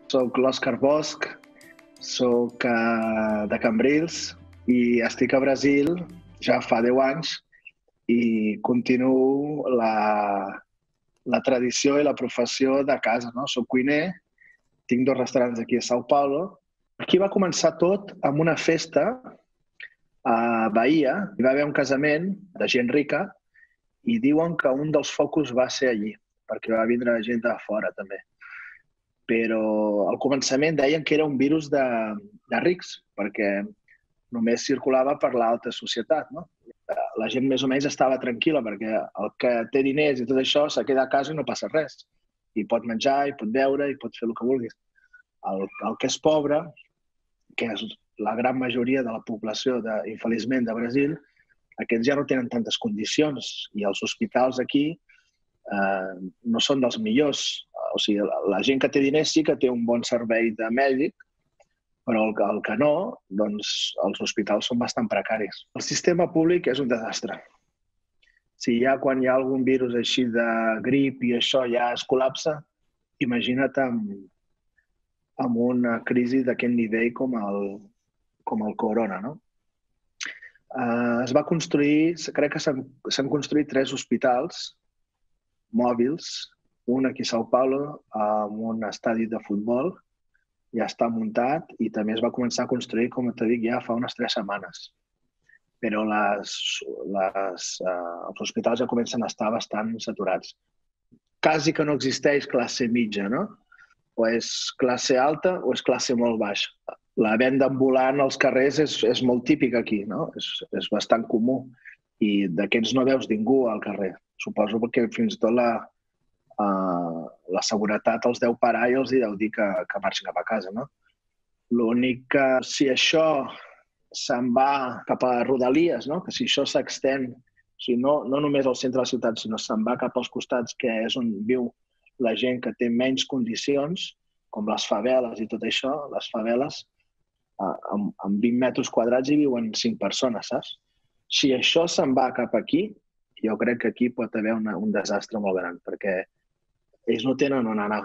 Soc l'Òscar Bosch, soc de Cambrils i estic a Brasil ja fa 10 anys i continuo la tradició i la professió de casa. Soc cuiner, tinc 2 restaurants aquí a São Paulo. Aquí va començar tot amb una festa a Bahia. Hi va haver un casament de gent rica i diuen que un dels focus va ser allí, perquè va vindre gent de fora també. Però al començament deien que era un virus de rics, perquè només circulava per l'alta societat. La gent més o menys estava tranquil·la, perquè el que té diners i tot això se queda a casa i no passa res. I pot menjar, i pot beure, i pot fer el que vulguis. El que és pobre, que és la gran majoria de la població, infeliçment, de Brasil, aquests ja no tenen tantes condicions i els hospitals aquí no són dels millors. O sigui, la gent que té diners sí que té un bon servei de mèdic, però el que no, doncs els hospitals són bastant precaris. El sistema públic és un desastre. Si ja quan hi ha algun virus així de grip i això ja es col·lapsa, imagina't amb una crisi d'aquest nivell com el corona, no? Es va construir, crec que s'han construït 3 hospitals mòbils, un aquí a São Paulo, amb un estadi de futbol, ja està muntat i també es va començar a construir, com t'he dit, ja fa unes 3 setmanes. Però els hospitals ja comencen a estar bastant saturats. Quasi que no existeix classe mitja, no? O és classe alta o és classe molt baixa. La venda ambulant als carrers és molt típica aquí, no? És bastant comú i d'aquests no veus ningú al carrer. Suposo perquè fins i tot la seguretat els deu parar i els deu dir que marxin cap a casa, no? L'únic que si això se'n va cap a Rodalies, no? Que si això s'extén, no només al centre de la ciutat, sinó se'n va cap als costats, que és on viu la gent que té menys condicions, com les faveles i tot això, les faveles, amb 20 metres quadrats hi viuen 5 persones, saps? Si això se'n va cap aquí, jo crec que aquí pot haver un desastre molt gran, perquè ells no tenen on anar.